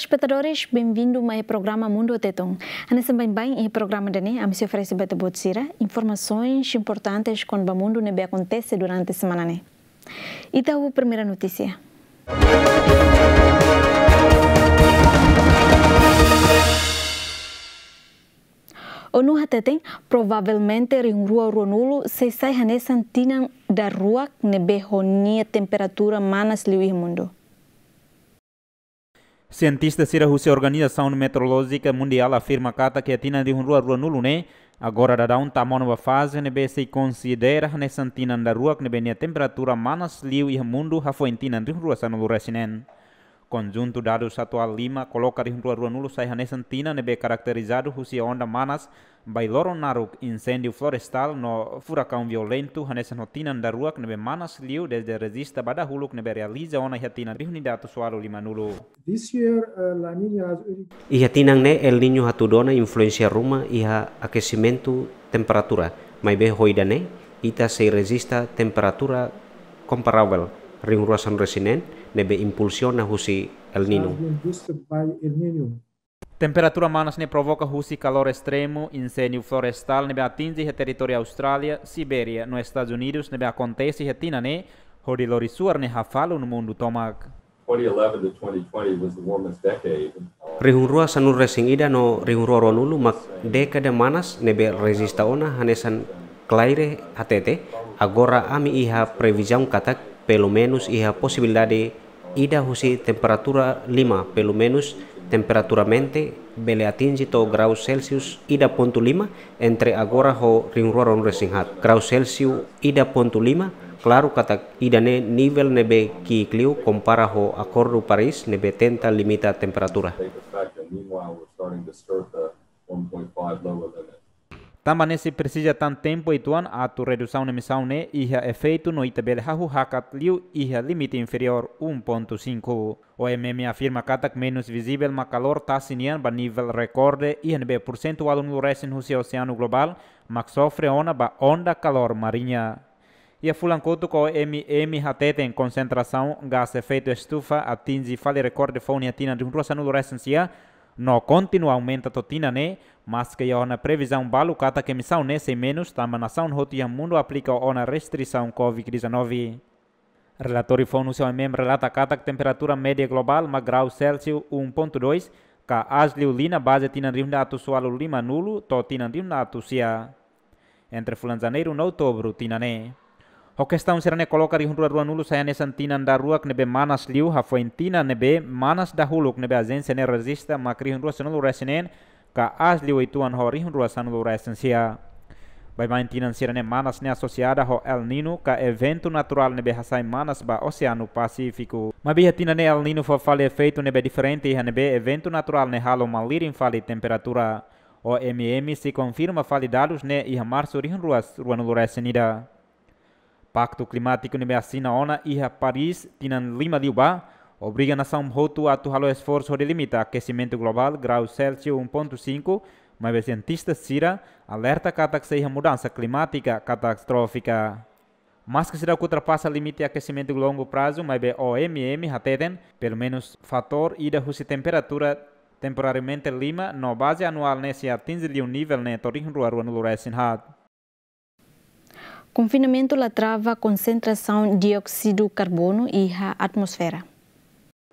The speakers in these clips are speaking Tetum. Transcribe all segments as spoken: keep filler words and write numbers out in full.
Espetadores, benvindu mai programa Mundu Tetun. Hanesan baibain iha programa ida-ne'e, ami sei oferese ba ita-boot sira informasoens importantes kona-ba mundu ne'ebé akontese durante semana ne'e. Ita ho primeira notísia. ONU hateten, provavelmente rihun rua ruanulu sei sai hanesan tinan daruak ne'ebé ho nia temperatura manas liu iha mundu. Sientista sira husi Organizasaun Meteorolójika Mundiál afirma katak iha tinan rihun rua ruanulu ne'e, agora daudaun tama ona ba faze ne'ebé sei konsidera hanesan tinan daruak ne'ebé nia temperatura manas liu iha mundu hafoin tinan rihun rua sanulu resin neen. Konjuntu dadus atuál lima koloka rihun rua ruanulu sai hanesan tinan ne'ebé karakterizadu husi onda manas, bailoron naruk, inséndiu florestál no furakaun violentu, hanesan ho tinan daruak ne'ebé manas liu dezde rejista ba dahuluk ne'ebé realiza ona iha tinan rihun ida atus ualu limanulu. This year, uh, La Nina has already Iha tinan ne'e El Niño hatudu ona influénsia ruma iha akesimentu temperatura, maibé ho ida-ne'e ita sei rejista temperatura komparavel rihun rua sanulu resin neen ne'ebé impulsiona husi El Niño. Has been boosted by El Niño. Temperatura manas ne'e provoka husi kalór estremu, inséndiu florestál ne'ebé atinje iha territóriu Austrália, Sibéria no Estadus Unidus ne'ebé akontese iha tinan ne'e, hodi lori suar ne'e hafalun mundu tomak. Twenty eleven to twenty twenty was the warmest decade. Rihun rua sanulu resin ida no rihun rua ruanulu mak dékada manas ne'ebé rejista ona, hanesan Claire hatete. Agora ami iha previzaun katak pelumenus iha posibilidade ida husi temperatura lima, pelumenus temperaturamente bele atinje to'o grau Celsius ida pontu lima, entre agora ho rihun rua ruanulu resin haat. Grau Celsius ida pontu lima, klaru katak ida-ne'e nivel ne'ebé ki'ik liu kompara ho Akordu Paris ne'ebé tenta limita temperatura. Meanwhile, we're starting to skirt the one point five lower limit. Tanba ne'e sei presiza tan tempu uitoan atu redusaun emisaun ne'e iha efeitu no ita bele hahú hakat liu iha limite inferiór um ponto cinco. OMM afirma katak menus vizivel mak kalór tasi nian ba nivel rekorde iha ne'ebé pursentu ualunulu resin husi oseanu globál mak sofre ona ba onda kalór mariña. Iha fulan kotuk OMM hateten konsentrasaun gás efeitu estufa atinje fali rekorde foun iha tinan rihun rua sanulu resin sia, no kontinua aumenta to'o tinan ne'e, maske iha ona previzaun balu katak emisaun ne'e sei menus tanba nasaun hotu iha mundu aplika ona restrisaun covid dezanove. Relatóriu foun husi OMM relata katak temperatura média globál mak grau Celsius um ponto dois, ka aas liu liña baze tinan rihun ida atus ualu limanulu to'o tinan rihun ida atus sia. Entre fulan Janeiru no Outubru tinan ne'e. Ho kestaun sira-ne'e koloka rihun rua ruanulu sai hanesan tinan daruak ne'ebé manas liu hafoin tinan ne'ebé manas dahuluk ne'ebé ajénsia ne'e rejista mak rihun rua sanulu resin neen, ka aas liu uitoan ho rihun rua sanulu resin sia. Baibain tinan sira-ne'e manas ne'e asosiada ho El Niño ka eventu naturál ne'ebé hasai manas ba Oseanu Pasífiku. Maibé iha tinan ne'e El Niño fó fali efeitu ne'ebé diferente iha ne'ebé eventu naturál ne'e halo malirin fali temperatura. OMM sei konfirma fali dadus ne'e iha Marsu rihun rua ruanulu resin ida. Paktu klimátiku ne'ebé asina ona iha Paris tinan lima liubá, obriga nasaun hotu atu halo esforsu hodi limita akesimentu globál grau Celsius um ponto cinco, maibé sientista sira alerta katak sei iha mudansa klimátika katastrófika. Maske seidauk ultrapasa limite akesimentu longu prazu, maibé OMM hateten, pelumenus fatór ida husi temperatura temporariamente lima no baze anuál ne'e sei atinje liu nivel ne'e to'o rihun rua ruanulu resin haat. Konfinamentu la trava konsentrasaun dióksidu karbonu iha atmosfera.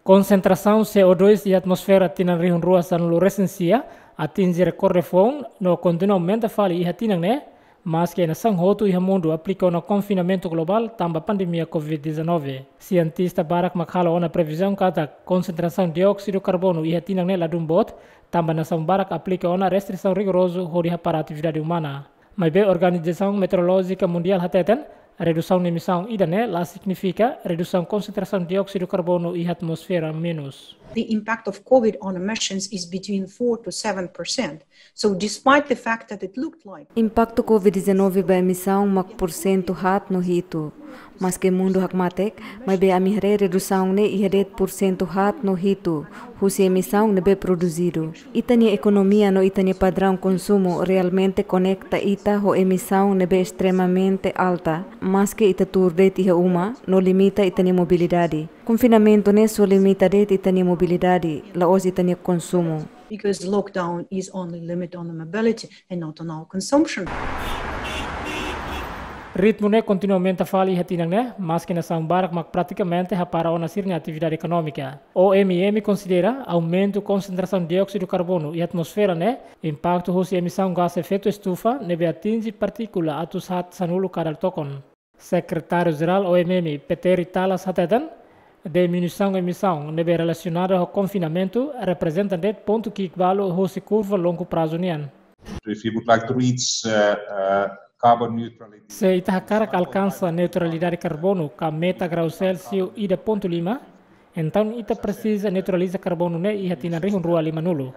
Konsentrasaun C O dois iha atmosfera tinan rihun rua sanulu resin sia atinje rekorde foun no kontinua aumenta fali iha tinan ne'e, maske nasaun hotu iha mundu aplika ona konfinamentu globál tanba pandemia covid dezanove. Sientista barak mak halo ona previzaun katak konsentrasaun dióksidu karbonu iha tinan ne'e ladún boot, tanba nasaun barak aplika ona restrisaun rigorozu hodi hapara atividade umana. Maibé Organizasaun Meteorolójika Mundiál hateten, redusaun emisaun ida-ne'e la signifika redusaun konsentrasaun dióksidu karbonu iha atmosfera menus. The impact of covid on emissions is between four to seven percent. So despite the fact that it looked like Impaktu covid dezanove ba emisaun mak pursentu haat no hitu. Maske mundu hakmatek, maibé ami haree redusaun ne'e iha de'it porsentu haat no hitu husi emisaun ne'ebé produzidu. Ita-nia ekonomia no ita-nia padraun konsumu realmente konekta ita ho emisaun ne'ebé estremamente alta, maske ita tuur de'it iha uma no limita ita-nia mobilidade. Konfinamentu ne'e só limita de'it ita-nia mobilidade, la'ós ita-nia konsumu. Because lockdown is only limit on the mobility and not on our consumption. Ritmu ne'e kontinua aumenta fali iha tinan ne'e, maske nasaun barak mak pratikamente hapara ona sira-nia atividade ekonómika. O M M konsidera aumentu konsentrasaun dióksidu karbonu iha atmosfera ne'e impaktu husi emisaun gás efeitu estufa ne'ebé atinje partíkula atus haat sanulu kada tokon. Sekretáriu Jerál O M M, Peter Talas hateten, diminuisaun emisaun ne'ebé relasionada ho konfinamentu reprezenta de'it pontu ki'ik balu husi kurva longu prazu nian. If you would like to reach uh, uh, carbon neutrality, Se ita hakarak alkansa neutralidade karbonu ka meta grau Celsius ida pontu lima, entaun ita presiza neutraliza karbonu ne'e iha tinan rihun rua limanulu.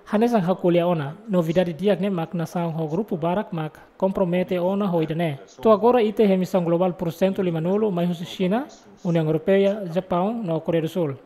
Hanesan ha'u ko'alia ona, novidade di'ak ne'e mak nasaun ho grupu barak mak kompromete ona ho ida-ne'e. To'o agora ita iha emisaun globál porsentu limanulu mai husi Xina, Uniaun Europeia, Japaun no Koreia do Sul. Uh,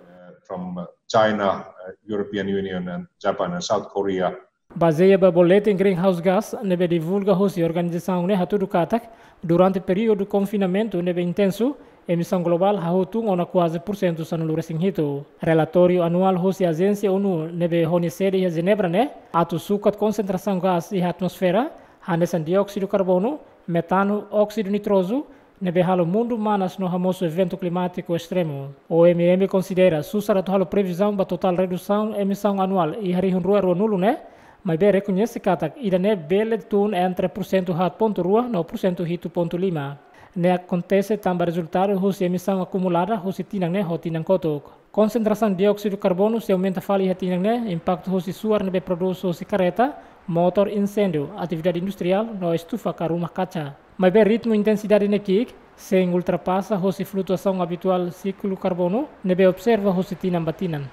from uh, China, uh, European Union, and Japan and South Korea. Bazeia ba boletin greenhouse gas ne'ebé divulga husi organizasaun ne'e hatudu katak, durante períodu konfinamentu ne'ebé intensu, emisaun globál hahú tun ona kuaze porsentu sanulu-resin-hitu. Relatóriu anuál husi ajénsia ONU ne'ebé ho nia sede iha Jenebra ne'e atu sukat konsentrasaun gás iha atmosfera, hanesan dióksidu karbonu, metanu, óksidu nitrozu, ne'ebé halo mundu manas no hamosu eventu klimátiku estremu. O M M konsidera susar atu halo previzaun ba totál redusaun emisaun anuál iha rihun rua ruanulu ne'e, maibé rekoñese katak ida-ne'e bele tun entre porsentu haat pontu rua no porsentu hitu pontu lima. Ne'e akontese tanba rezultadu husi emisaun akumulada husi tinan ne'e ho tinan kotuk. Konsentrasaun dióksidu karbonu sei aumenta fali iha tinan ne'e impaktu husi suar ne'ebé prodús husi karreta, motór, inséndiu, atividade industriál no estufa ka rumah kaca. Maibé ritmu intensidade ne'e ki'ik, sein ultrapasa husi flutuasaun abituál siklu karbonu ne'ebé observa husi tinan ba tinan.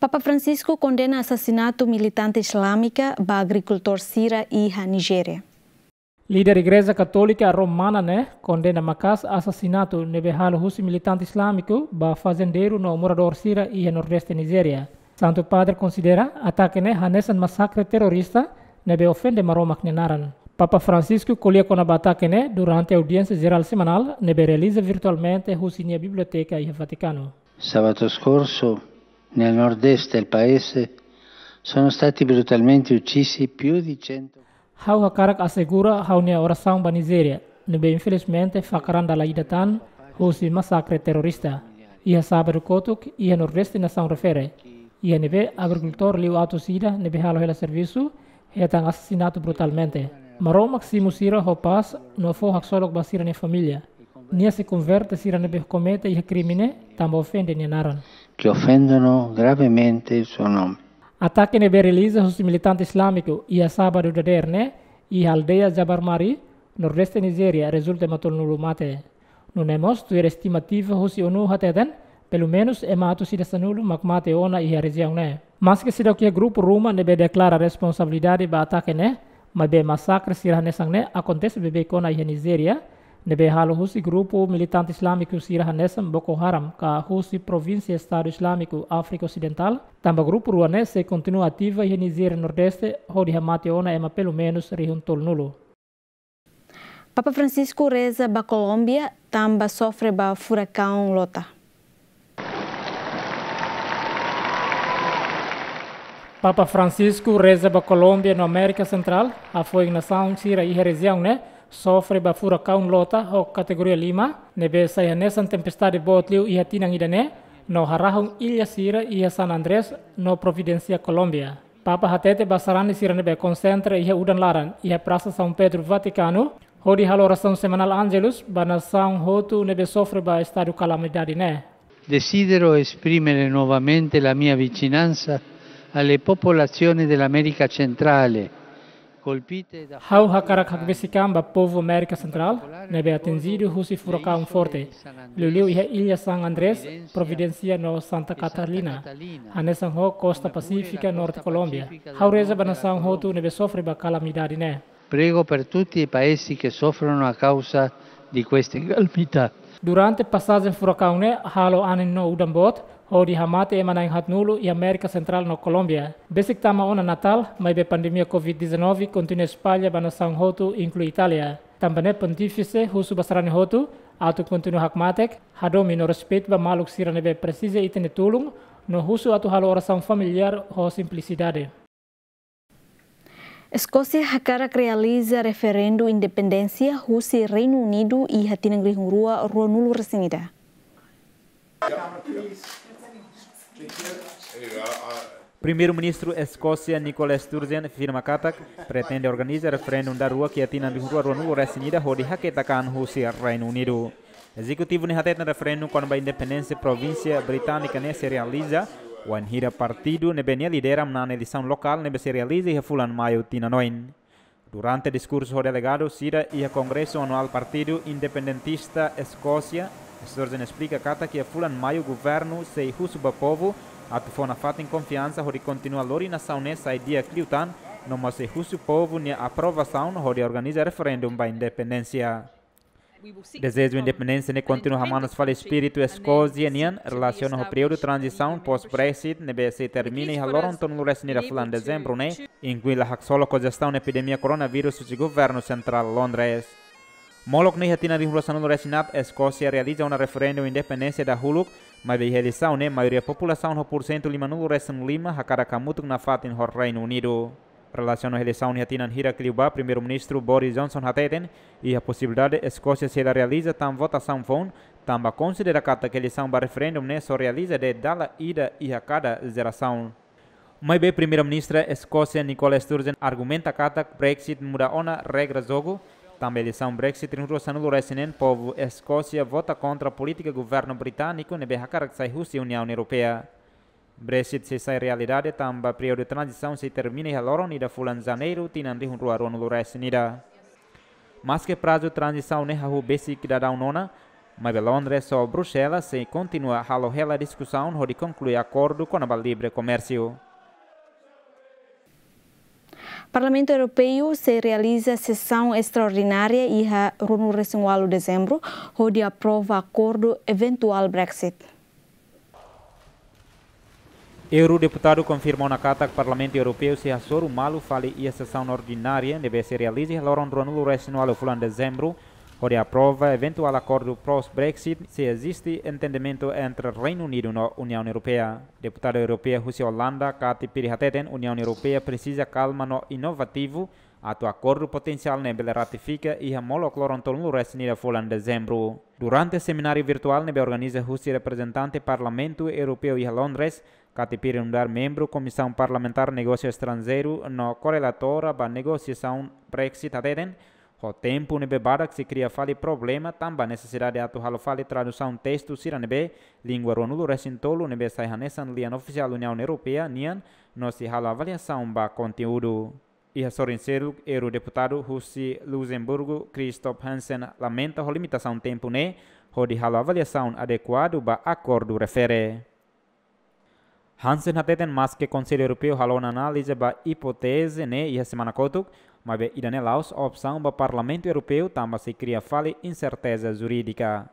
Papa Francisco kondena asasinatu militante islámika ba agrikultór sira iha Nijéria. Líder Igreja Katólika Romana ne'e kondena maka'as asasinatu ne'ebé halo husi militante islámiku ba fazendeiru no moradór sira iha Nordeste Nijéria. Santu Padre konsidera atake ne'e hanesan masakre terrorista ne'ebé ofende Maromak nia naran. Papa Francisco ko'alia kona-ba atake ne'e durante audiénsia jerál semanál ne'ebé realiza virtualmente husi nia biblioteka iha Vatikanu. Sabato scorso, nel nord-est del paese, sono stati brutalmente uccisi più di cento. Ha'u hakarak asegura ha'u-nia orasaun ba Nijéria, ne'ebé infelizmente fakaran dala ida tan husi masakre terrorista. Iha sábadu kotuk, iha Nordeste nasaun refere, iha ne'ebé agrikultór liu atus ida ne'ebé halo hela servisu, hetan asasinatu brutalmente. Maromak simu sira ho pás no fó haksolok ba sira-nia família. Nia sei konverte sira ne'ebé komete iha krime ne'e tanba ofende nia naran. Che offendono gravemente il suo nome. Atake ne'ebé realiza husi militante islámiku iha sábadu dadeer ne'e iha aldeia Jabar Mari, Nordeste Nijéria, rezulta ema tolunulu mate. Nune'e mós tuir estimativa husi ONU hateten, pelumenus ema atus ida sanulu mak mate ona iha rejiaun ne'e. Maske seidauk iha grupu ruma ne'ebé deklara responsabilidade ba atake ne'e, maibé masakre sira hanesan ne'e akontese beibeik ona iha Nijéria, ne'ebé halo husi grupu militante islámiku sira hanesan Boko Haram ka husi provínsia Estadu Islámiku Áfrika Osidentál, tanba grupu rua ne'e sei kontinua ativa iha Nijéria Nordeste, hodi hamate ona ema pelumenus rihun tolunulu. Papa Francisco reza ba Kolómbia tanba sofre ba furakaun Lota. Papa Francisco reza ba Kolómbia no Amérika Sentrál, hafoin nasaun sira iha rejiaun ne'e sofre ba furakaun Lota ho kategoria lima, ne'ebé sai hanesan tempestade boot liu iha tinan ida-ne'e, no harahun illa sira iha San Andrés no Providencia, Kolómbia. Papa hatete ba sarani sira ne'ebé konsentra iha udan laran iha Prasa São Pedro, Vatikanu, hodi halo orasaun semanál Angelus ba nasaun hotu ne'ebé sofre ba estadu kalamidade ne'e. Desidero esprimere nuovamente la mia vicinanza alle popolazioni dell'America centrale, colpite da. Ha'u hakarak hakbesik an ba povu Amérika Sentrál ne'ebé atinjidu husi furakaun forte, liuliu iha illa San Andrés, Providencia no Santa Catalina, hanesan ho kosta Pasífika norte Kolómbia. Ha'u reza ba nasaun hotu ne'ebé sofre ba kalamidade ne'e. Prego per tutti i paesi che soffrono a causa di queste calamità. Durante pasajen furakaun ne'e halo anin no udan boot, hodi hamate ema na'in haatnulu iha Amérika Sentrál no Kolómbia. Besik tama ona Natál, maibé pandemia covid dezanove kontinua espalla ba nasaun hotu, inklui Itália. Tanba ne'e Pontífise husu ba sarani hotu atu kontinua hakmatek, hadomi no respeitu ba maluk sira ne'ebé presiza ita-nia tulun, no husu atu halo orasaun familiár ho simplisidade. Eskósia hakarak realiza referendu independénsia husi Reinu Unidu iha tinan rihun rua ruanulu resin ida. Primeiru-Ministru Eskósia Nicola Sturgeon afirma katak pretende organiza referendu daruak iha tinan rihun rua ruanulu resin ida hodi haketak an husi Reinu Unidu. Ezekutivu ne'e hateten referendu kona-ba independénsia provínsia Británika ne'e sei realiza wainhira partidu ne'ebé nia lidera manán eleisaun lokál ne'ebé sei realiza iha fulan Maiu tinan oin. Durante diskursu ho delegadu sira iha Kongresu Anuál Partidu Independentista Eskósia, Sturgeon esplika katak iha fulan Maiu governu sei husu ba povu atu fó nafatin konfiansa hodi kontinua lori nasaun ne'e sai di'ak liután, no mós sei husu povu nia aprovasaun hodi organiza referendu ba independénsia. Dezeju independénsia ne'e kontinua hamanas fali espíritu Eskósia nian relasiona ho períodu tranzisaun pós-Brexit ne'ebé sei termina iha loron tolunulu resin ida fulan Dezembru ne'e, inklui la haksolok ho jestaun epidemia koronavírus husi governu sentrál Londres. Molok ne'e iha tinan rihun rua sanulu resin haat Eskósia realiza ona referendu independénsia dahuluk, maibé iha eleisaun ne'e maioria populasaun ho pursentu limanulu resin lima hakarak hamutuk nafatin ho Reinu Unidu. Relasiona ho eleisaun iha tinan hirak liubá, Primeiru-Ministru Boris Johnson hateten iha posibilidade Eskósia sei la realiza tan votasaun foun, tanba konsidera katak eleisaun ba referendu ne'e só realiza de'it dala ida iha kada jerasaun. Maibé Primeiru-Ministra Eskósia Nicola Sturgeon argumenta katak Brexit muda ona regra jogu, tanba eleisaun Brexit rihun rua sanulu resin neen povu Eskósia vota kontra polítika governu britániku ne'ebé hakarak sai husi Uniaun Europeia. Brexit sei sai realidade tanba períodu tranzisaun sei termina iha loron ida fulan Janeiru tinan rihun rua ruanulu resin ida. Maske prazu tranzisaun ne'e hahú besik daudaun ona, maibé Londres ho Bruxelas sei kontinua halo hela diskusaun hodi konklui akordu kona-ba livre komérsiu. Parlamentu Europeu sei realiza sesaun estraordinária iha ruanulu resin ualu Dezembru, hodi aprova akordu eventuál Brexit. Eurodeputadu konfirma ona katak Parlamentu Europeu sei hasoru malu fali iha sesaun ordinária ne'ebé sei realiza iha loron ruanulu resin ualu fulan Dezembru, hodi aprova eventuál akordu pós-Brexit, se eziste entendimentu entre Reinu Unidu no Uniaun Europeia. Deputadu Europeia husi Olanda, Katy Piri hateten, Uniaun Europeia presiza kalma no inovativu atu akordu potensiál ne'e bele ratifika iha molok loron tolunulu resin ida fulan Dezembru. Durante semináriu virtuál ne'ebé organiza husi reprezentante Parlamentu Europeu iha Londres, Katy Piri nu'udar membru Komisaun Parlamentár Negósiu Estranjeiru no korrelatora ba negosiasaun Brexit hateten, ho tempu ne'ebé badak sei kria fali problema tanba nesesidade atu halo fali tradusaun testu sira ne'ebé língua ruanulu resin tolu ne'ebé sai hanesan lian ofisiál Uniaun Europeia nian, no sei halo avaliasaun ba konteúdu. Iha sorin seluk, eurodeputadu husi Luxemburgu, Christophe Hansen, lamenta ho limitasaun tempu ne'e hodi halo avaliasaun adekuadu ba akordu refere. Hansen hateten maske Konsellu Europeu halo ona análize ba ipóteze ne'e iha semana kotuk, maibé ida-ne'e la'ós opsaun ba Parlamentu Europeu tanba sei kria fali inserteza jurídika.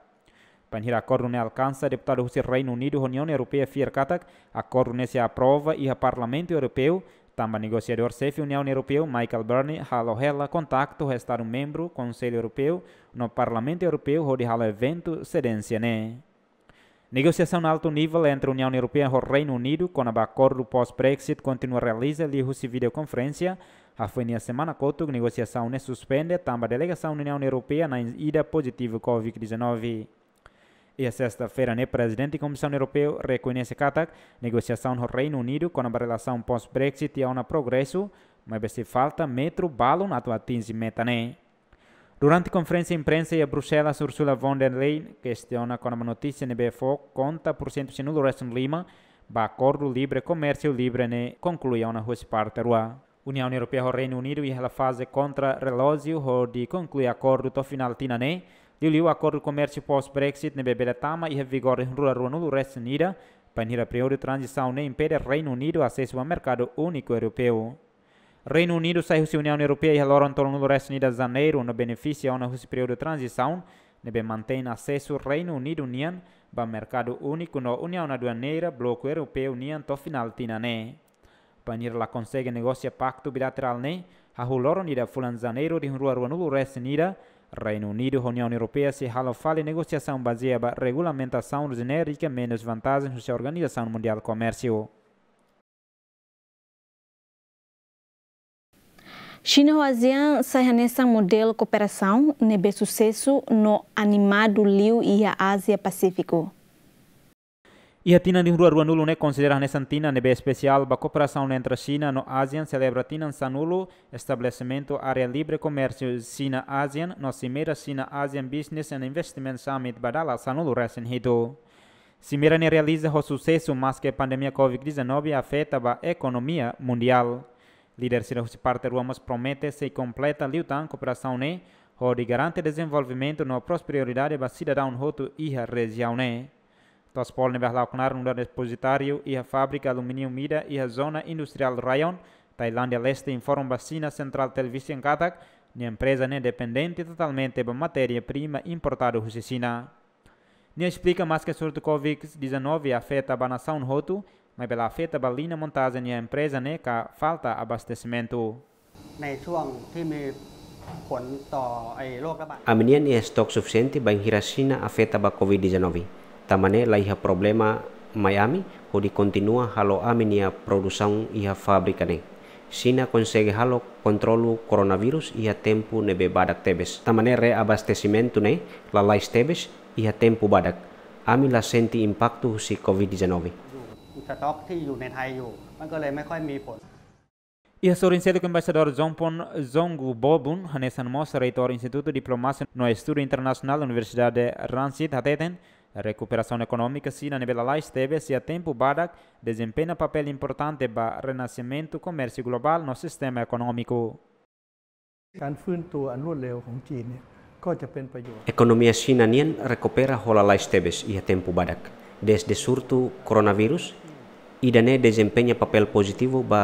Bainhira akordu ne'e alkansa, deputadu husi Reinu Unidu ho Uniaun Europeia fiar katak akordu ne'e sei aprova iha Parlamentu Europeu, tanba negosiadór xefe Uniaun Europeu, Michel Barnier, halo hela kontaktu ho Estadu membru, Konsellu Europeu no Parlamentu Europeu hodi halo eventu sedénsia ne'e. Negosiasaun altu nivel entre Uniaun Europeia ho Reinu Unidu kona-ba akordu pós-Brexit kontinua realiza liuhusi videokonferénsia. Hafoin iha semana kotuk negosiasaun ne'e suspende tanba delegasaun Uniaun Europeia na'in ida pozitivu covid dezanove. Iha sesta-feira ne'e, Prezidente Komisaun Europeu rekoñese katak negosiasaun ho Reinu Unidu kona-ba relasaun pós-Brexit iha ona progresu, maibé sei falta metru balun atu atinje meta ne'e. Durante konferénsia imprensa iha Bruxelas, Ursula von der Leyen kestiona kona-ba notísia ne'ebé fó konta pursentu sanulu resin lima ba akordu livre komérsiu livre ne'e konklui ona husi parte rua. Uniaun Europeia ho Reinu Unidu iha hela faze kontra-relójiu hodi konklui akordu to'o finál tinan ne'e, liuliu akordu komérsiu pós-Brexit ne'ebé bele tama iha vigór iha rua ruanulu resin ida, bainhira períodu tranzisaun ne'e impede Reinu Unidu asesu ba merkadu úniku europeu. Reinu Unidu sai husi Uniaun Europeia iha loron tolunulu-resin-ida Janeiru no benefisia ona husi períodu tranzisaun ne'ebé mantein asesu Reinu Unidu nian ba merkadu úniku no Uniaun Aduaneira Bloku Europeu nian to'o finál tinan ne'e. Bainhira la konsege negosia paktu bilaterál ne'e, hahú loron ida fulan Janeiru tinan rua ruanulu-resin-ida, Reinu Unidu ho Uniaun Europeia sei halo fali negosiasaun bazeia ba regulamentasaun jenérika menus vantajen husi Organizasaun Mundiál Komérsiu. Xina ho ASEAN sai hanesan modelu kooperasaun ne'ebé susesu no animadu liu iha Ázia Pasífiku. Iha tinan tinan rua ruanulu ne'e konsidera hanesan tinan ne'ebé espesiál ba kooperasaun entre Xina no ASEAN, selebra tinan sanulu estabelesimentu Área Livre Komérsiu Xina-ASEAN no Simeira Xina-ASEAN Business and Investment Summit ba dala sanulu-resin-hitu. Simeira ne'e realiza ho susesu maske pandemia Covid dezanove afeta ba ekonomia mundiál. Líder sira husi parte rua mós promete sei kompleta liután kooperasaun ne'e hodi garante dezenvolvimentu no prosperidade ba sidadaun hotu iha rejiaun ne'e. To'os Polo ne'ebé hala'o knaar nu'udar depozitáriu iha fábrika alumíniu ida iha zona industriál Rayong, Tailándia Leste, informa ba Xina Central Television katak nia empreza ne'e dependente totalmente ba matéria-prima importadu husi Xina. Nia esplika maske surtu Covid dezanove afeta ba nasaun hotu, maibé la afeta ba liña montajen nia empreza ne'e ka falta abastesimentu. ในช่วงที่มีผลต่อไอ้โรคระบาด Ami-nian iha estok sufisiente bainhira Xina afeta ba Covid dezanove. Tanba ne'e la iha problema mai ami hodi kontinua halo ami-nia produsaun iha fábrika ne'e. Xina konsege halo kontrolu koronavírus iha tempu ne'ebé badak tebes. Tanba ne'e reabastesimentu ne'e lalais tebes iha tempu badak. Ami la sente impaktu husi Covid dezanove. อยู่ สต็อกที่อยู่ในไทยอยู่ มันก็เลยไม่ค่อยมีผล Iha sorin seluk, Embaixadór Jompon Zongubobun, hanesan mós Reitór Institutu Diplomasia no Estudu Internasionál Universidade Rangsit, hateten rekuperasaun ekonómika Xina ne'ebé lalais tebes iha tempu badak dezempeña papél importante ba renasimentu komérsiu globál no sistema ekonómiku. การฟื้นตัวอันรวดเร็วของจีนเนี่ย ก็จะเป็นประโยชน์ Ekonomia Xina nian rekupera ho lalais tebes iha tempu badak dezde surtu koronavírus. Ida-ne'e dezempeña papél pozitivu ba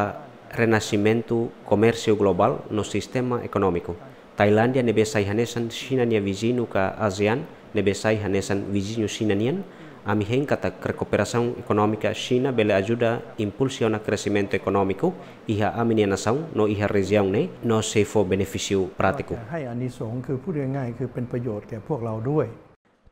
renasimentu komérsiu globál no sistema ekonómiku. Tailándia ne'ebé sai hanesan Xina nia viziñu ka ASEAN ne'ebé sai hanesan viziñu Xina nian, ami hein katak rekuperasaun ekonómika Xina bele ajuda impulsiona kresimentu ekonómiku iha ami-nia nasaun no iha rejiaun ne'e no sei fó benefísiu prátiku. ก็จะให้อานิสงส์ คือพูดง่ายๆ คือเป็นประโยชน์แก่พวกเราด้วย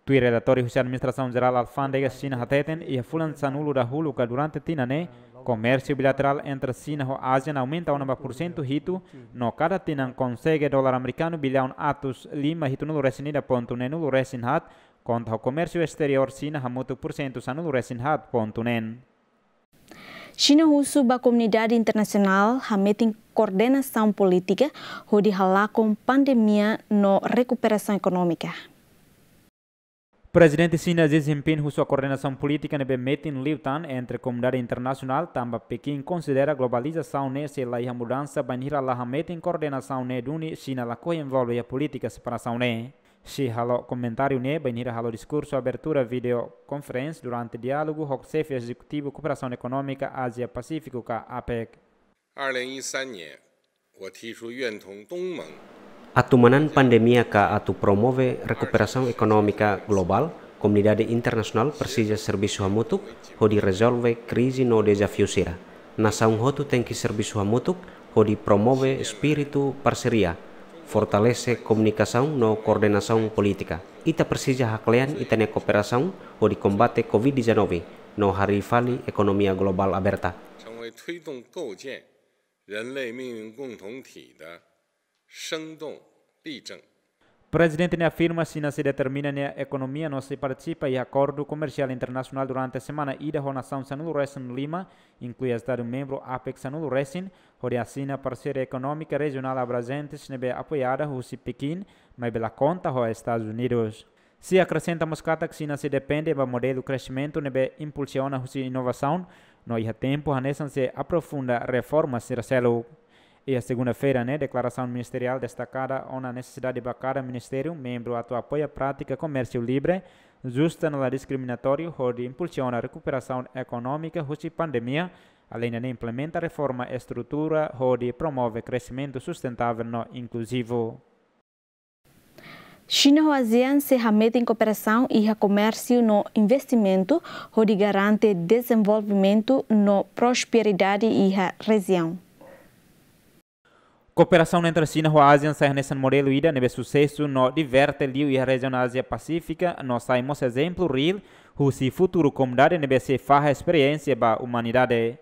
Tuir relatóriu husi Administrasaun Jerál Alfándega Xina hateten, iha fulan sanulu dahuluk ka durante tinan ne'e, komérsiu bilaterál entre Xina ho ASEAN aumenta ona ba pursentu hitu, no kada tinan konsege dolar amerikanu biliaun atus lima hitunulu-resin-ida pontu neenulu-resin-haat, konta ho komérsiu esteriór Xina hamutuk pursentu sanulu-resin-haat pontu neen. Xina husu ba komunidade internasionál hametin koordenasaun polítika hodi halakon pandemia no rekuperasaun ekonómika. Prezidente Xina Xi Jinping husu ba koordenasaun polítika ne'ebé metin liután entre komunidade internasionál, tanba Pekin konsidera globalizasaun ne'e sei la iha mudansa bainhira la hametin koordenasaun ne'e duni Xina lakohi envolve iha polítika separasaun ne'e. Xi halo komentáriu ne'e bainhira halo diskursu abertura video conference durante diálogu ho Xefe Ezekutivu Kooperasaun Ekonómika Ázia Pasífiku ka APEC. 二零一三年，我提出愿同东盟 Atu manán pandemia ka atu promove rekuperasaun ekonómika globál, komunidade internasionál presiza servisu hamutuk hodi rezolve krize no dezafiu sira. Nasaun hotu tenke servisu hamutuk hodi promove espíritu parseria, fortalese komunikasaun no koordenasaun polítika. Ita presiza haklean ita-nia kooperasaun hodi kombate Covid dezanove no harii fali ekonomia globál aberta. 成为推动构建人类命运共同体的生动例证。 Prezidente ne'e afirma Xina sei determina nia ekonomia no sei partisipa iha akordu komersiál internasionál durante semana ida ho nasaun sanulu-resin-lima, inklui Estadu membru APEC sanulu-resin, hodi asina parseria ekonómika rejionál abranjente ne'ebé apoiada husi Pekin, maibé la konta ho Estadus Unidus. Xi akresenta mós katak Xina sei depende ba modelu kresimentu ne'ebé impulsiona husi inovasaun, no iha tempu hanesan sei aprofunda reforma sira seluk. Iha segunda-feira ne'e, deklarasaun ministeriál destakada ona nesesidade ba kada ministériu membru atu apoia prátika komérsiu livre, justa no la diskriminatóriu, hodi impulsiona rekuperasaun ekonómika husi pandemia, Aleinde ne'e, implementa reforma estrutura hodi promove kresimentu sustentável no inkluzivu. Xina ho ASEAN sei hametin kooperasaun iha komérsiu no investimentu, hodi garante dezenvolvimentu no prosperidade iha rejiaun. Kooperasaun entre Xina ho ASEAN sai hanesan modelu ida ne'ebé susesu no diverte liu iha rejiaun Ázia Pasífika, no sai mós ezemplu reál husi futuru komunidade ne'ebé sei fahe esperiénsia ba umanidade.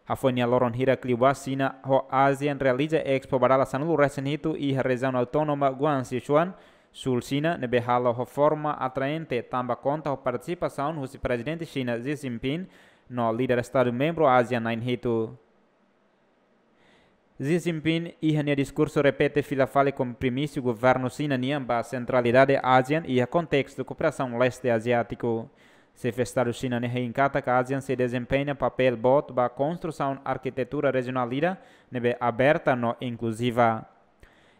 Hafoin nia loron hirak liubá, Xina ho ASEAN realiza Expo ba dala sanulu-resin-hitu iha rejiaun autónoma Guangxi Sichuan, Súl Xina, ne'ebé halo ho forma atraente tanba konta ho partisipasaun husi Prezidente Xina Xi Jinping no líder Estadu membru ASEAN na'in-hitu. Xi Jinping iha nia diskursu repete fila fali kompromisu governu Xina nian ba sentralidade ASEAN iha kontestu kooperasaun leste aziátiku. Xefe Estadu Xina ne'e hein katak ASEAN sei dezempeña papél boot ba konstrusaun arkitetura rejionál ida ne'ebé aberta no inkluziva.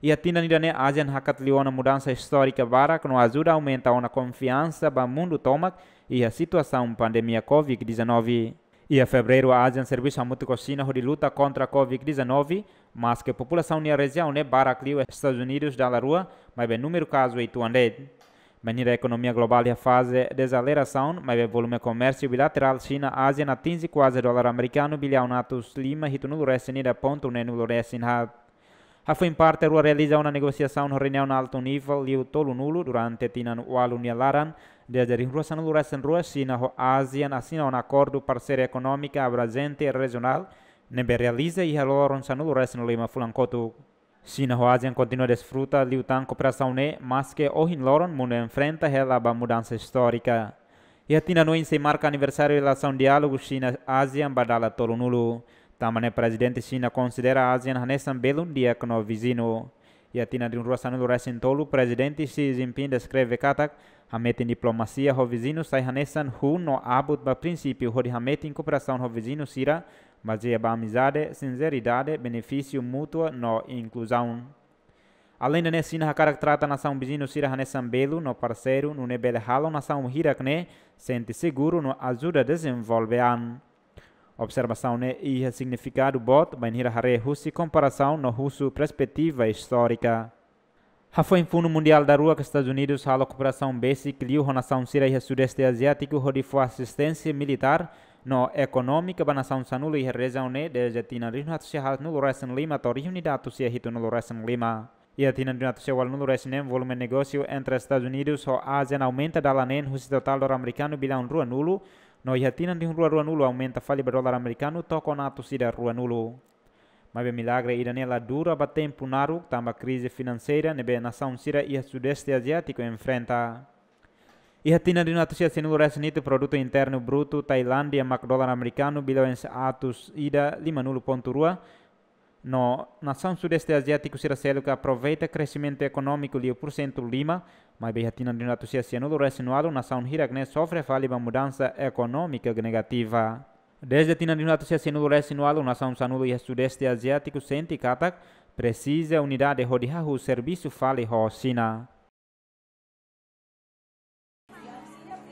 Iha tinan ida-ne'e ASEAN hakat liu ona mudansa istórika barak no ajuda aumenta ona konfiansa ba mundu tomak iha situasaun pandemia covid dezanove. Iha Fevereiru ASEAN servisu hamutuk ho Xina hodi luta kontra covid dezanove, maske populasaun iha rejiaun ne'e barak liu Estadus Unidus dala rua, maibé númeru kazu uitoan de'it. Bainhira ekonomia globál iha faze dezaselerasaun, maibé volume komérsiu bilaterál Xina-ASEAN atinje kuaze dolar amerikanu biliaun atus lima hitunulu-resin-ida pontu neenulu-resin-haat. Hafoin parte rua realiza ona negosiasaun ho reuniaun altu nivel liu tolunulu durante tinan ualu nia laran, dezde rihun rua sanulu-resin-rua Xina ho ASEAN asina ona akordu parseria ekonómika abrajente rejionál, ne'ebé realiza iha loron sanulu-resin-lima fulan kotuk. Xina ho ASEAN kontinua desfruta liután kooperasaun ne'e, maske ohin loron mundu enfrenta hela ba mudansa istórika. Iha tinan oin sei marka aniversáriu relasaun diálogu Xina-ASEAN ba dala tolunulu. Tanba ne'e Prezidente Xina konsidera ASEAN hanesan belun di'ak no viziñu. Iha tinan rihun rua sanulu-resin-tolu, Prezidente Xi Jinping deskreve katak, hametin diplomasia ho viziñu sai hanesan hun no abut ba prinsípiu hodi hametin kooperasaun ho viziñu sira, bazeia ba amizade, sinseridade, benefísiu mútua no inkluzaun. Aleinde ne'e, Xina hakarak trata nasaun viziñu sira hanesan belun no parseiru, nune'e bele halo nasaun hirak ne'e sente seguru no ajuda dezenvolve an. Observasaun ne'e iha signifikadu boot, bainhira haree husi komparasaun no husu perspetiva istórika. Hafoin funu mundiál daruak, Estadus Unidus halo kooperasaun besik liu ho nasaun sira iha Sudeste Aziátiku hodi fó asisténsia militár no ekonómika ba nasaun sanulu iha rejiaun ne'e dezde tinan rihun atus sia haatnulu-resin-lima to'o rihun ida atus sia hitunulu-resin-lima. Iha tinan rihun atus sia ualunulu-resin-neen, volume negósiu entre Estadus Unidus ho ASEAN aumenta dala neen husi totál dolar amerikanu biliaun ruanulu, no iha tinan rihun rua ruanulu aumenta fali ba dolar amerikanu tokon atus ida ruanulu. Maibé milagre ida-ne'e la dura ba tempu naruk, tanba krize finanseira ne'ebé nasaun sira iha Sudeste Aziátiku enfrenta. Iha tinan rihun atus sia sianulu-resin-hitu, Produtu Internu Brutu Tailándia mak dolar amerikanu biliaun atus ida limanulu pontu rua, no nasaun Sudeste Aziátiku sira seluk aproveita kresimentu ekonómiku liu pursentu lima, maibé iha tinan rihun atus sia sianulu-resin-ualu, nasaun hirak ne'e sofre fali ba mudansa ekonómika negativa. Dezde tinan rihun atus sia sianulu-resin-ualu, nasaun sanulu iha Sudeste Aziátiku sente katak presiza unidade hodi hahú servisu fali ho Xina.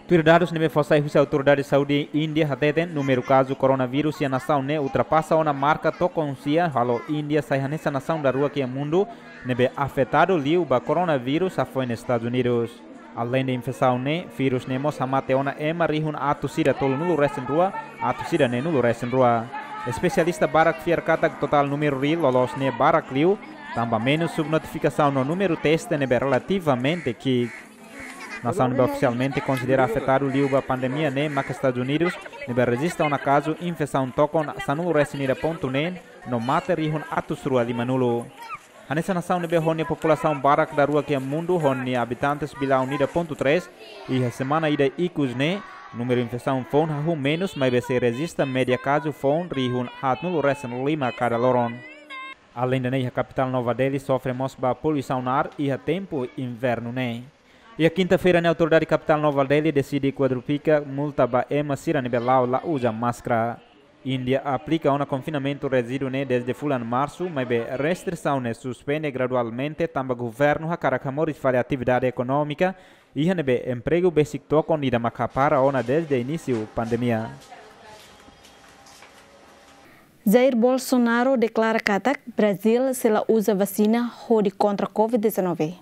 Tuir dadus ne'ebé fó sai husi Autoridade Saúde Índia hateten, númeru kazu koronavírus iha nasaun ne'e ultrapasa ona marka tokon sia, halo Índia sai hanesan nasaun daruak iha mundu ne'ebé afetadu liu ba koronavírus hafoin Estadus Unidus. Aleinde infesaun ne'e, vírus ne'e mós hamate ona ema rihun atus ida tolunulu-resin-rua, atus ida neenulu-resin-rua. Espesialista barak fiar katak totál númeru reál loloos ne'e barak liu, tanba menus subnotifikasaun no númeru teste ne'ebé relativamente ki'ik. Nasaun ne'ebé ofisialmente konsidera afetadu liu ba pandemia ne'e mak Estadus Unidus, ne'ebé rejista ona kazu infesaun tokon sanulu-resin-ida pontu neen, no mate rihun atus rua limanulu. Hanesan nasaun ne'ebé ho nia populasaun barak daruak iha mundu ho nia abitantes biliaun ida pontu três, iha semana ida ikus ne'e, númeru infesaun foun hahú menus, maibé sei rejista média kazu foun rihun haatnulu-resin-lima kada loron. Aleinde ne'e, iha kapitál Nova Delhi sofre mós ba poluisaun ar iha tempu invernu ne'e. Iha kinta-feira ne'e, Autoridade Kapitál Nova Delhi deside kuadrufika multa ba ema sira ne'ebé la'o la uza máskara. Índia aplika ona konfinamentu ríjidu ne'e dezde fulan Marsu, maibé restrisaun ne'e suspende gradualmente tanba governu hakarak hamoris fali atividade ekonómika, iha ne'ebé empregu besik tokon ida mak hapara ona dezde inísiu pandemia. Jair Bolsonaro deklara katak Brazil sei la uza vasina hodi kontra covid dezanove.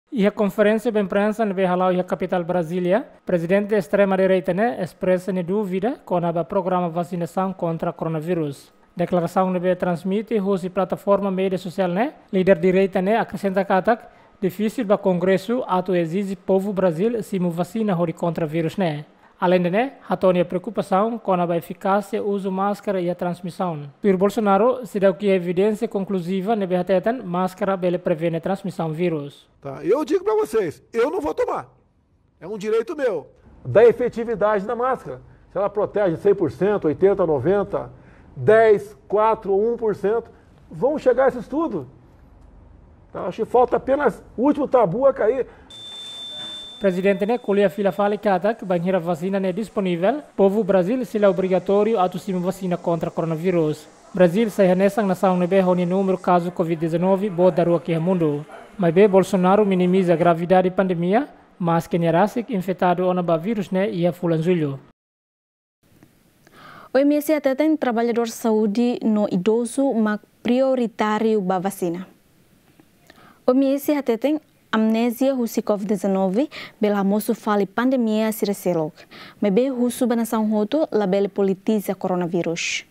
Iha konferénsia ba imprensa ne'ebé hala'o iha kapitál Brasília, prezidente estrema direita ne'e espresa nia dúvida kona-ba programa vasinasaun kontra koronavírus. Deklarasaun ne'ebé transmite husi plataforma média sosiál ne'e, líder direita ne'e akresenta katak difisil ba Kongresu atu ezije povu Brazil simu vasina hodi kontra vírus ne'e. Aleinde ne'e, hato'o nia preokupasaun kona-ba efikásia uzu máskara iha transmisaun. Tuir Bolsonaro, seidauk iha evidénsia konkluziva ne'ebé hateten máskara bele prevene transmisaun vírus. Tá? Eu digo pra vocês, eu não vou tomar. É um direito meu. Da efetividade da máscara. Se ela protege cem por cento, oitenta, noventa, dez, quatro ou um por cento, vão chegar esse estudo. Tá? Acho que falta apenas o último tabu a cair. Prezidente ne'e ko'alia fila fali katak, bainhira vasina ne'e disponivel, povu Brazil sei la obrigatóriu atu simu vasina kontra koronavírus. Brazil sai hanesan nasaun ne'ebé ho nia númeru kazu covid dezanove boot daruak iha mundu. Maibé Bolsonaro minimiza gravidade pandemia, maske nia rasik infetadu ona ba vírus ne'e iha fulan Jullu. O M S hateten traballadór saúde no idozu mak prioritáriu ba vasina. O M S hateten amnézia husi covid dezanove bele hamosu fali pandemia sira seluk. Maibé husu ba nasaun hotu labele politiza koronavírus.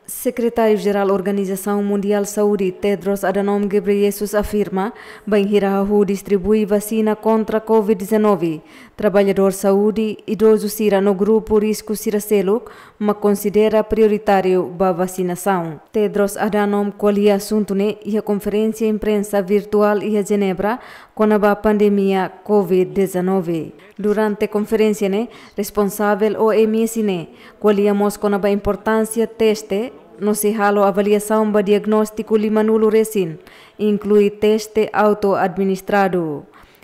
Sekretáriu-Jerál Organizasaun Mundiál Saúde, Tedros Adhanom Ghebreyesus, afirma, bainhira hahú distribui vasina kontra covid dezanove, traballadór saúde, idozu sira no grupu risku sira seluk mak konsidera prioritáriu ba vasinasaun. Tedros Adhanom ko'alia asuntu ne'e iha konferénsia imprensa virtuál iha Jenebra kona-ba pandemia covid dezanove. Durante konferénsia ne'e, responsavel O M S ne'e ko'alia mós kona-ba importánsia teste no sei halo avaliasaun ba diagnóstiku limanulu resin, inklui teste auto-administradu.